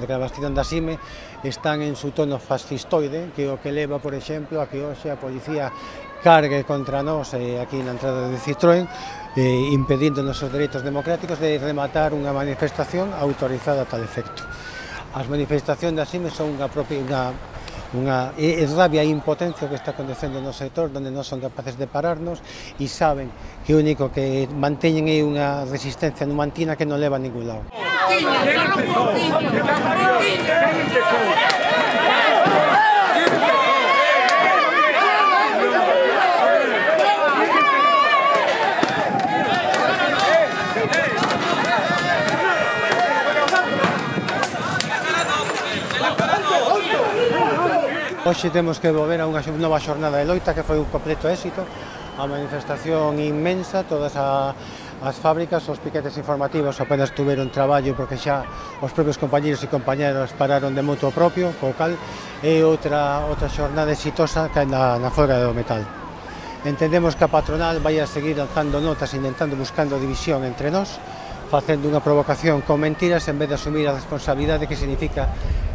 a declaración da CIME están en su tono fascistoide, que o que leva, por exemplo, a que hoxe a policía cargue contra nós aquí na entrada de Citroën, impedindo nosos dereitos democráticos de rematar unha manifestación autorizada a tal efecto. As manifestacións da CIME son unha rabia e impotencia que está acontecendo no sector, onde non son capaces de pararnos e saben que o único que manteñen é unha resistencia numantina que non leva a ningún lado. Hoxe temos que volver a unha nova xornada de loita que foi un completo éxito, a manifestación inmensa, todas as fábricas, os piquetes informativos apenas tuveron traballo porque xa os propios compañeros e compañeras pararon de moto propio, co cal é outra xornada exitosa que na folga do metal. Entendemos que a patronal vai a seguir alzando notas intentando buscando división entre nós, facendo unha provocación con mentiras en vez de asumir a responsabilidade que significa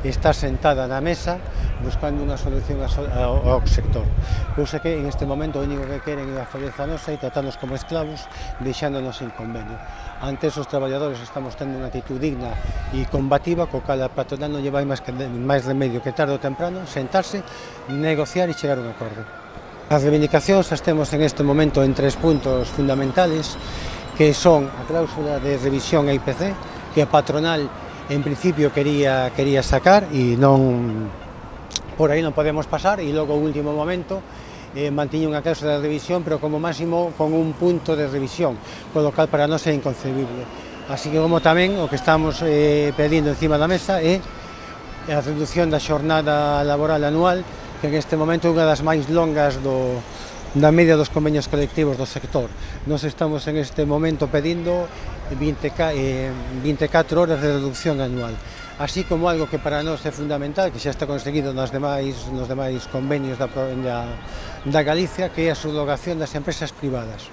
estar sentada na mesa buscando unha solución ao sector. Cousa que en este momento o único que queren é a falleza nosa e tratarnos como esclavos, deixándonos sin convenio. Antes os traballadores estamos tendo unha actitud digna e combativa, co cal a patronal non lle vai máis remedio que tarde ou temprano sentarse, negociar e chegar a un acordo. As reivindicacións as temos en este momento en 3 puntos fundamentales, que son a cláusula de revisión a IPC, que a patronal en principio quería sacar e por aí non podemos pasar, e logo o último momento mantiña unha cláusula de revisión, pero como máximo con un punto de revisión, polo cal para nós é inconcebible. Así que como tamén o que estamos pedindo encima da mesa é a reducción da xornada laboral anual, que en este momento é unha das máis longas da media dos convenios colectivos do sector. Nos estamos en este momento pedindo 24 horas de reducción anual, así como algo que para nós é fundamental, que xa está conseguido nos demais convenios da Galicia, que é a subrogación das empresas privadas.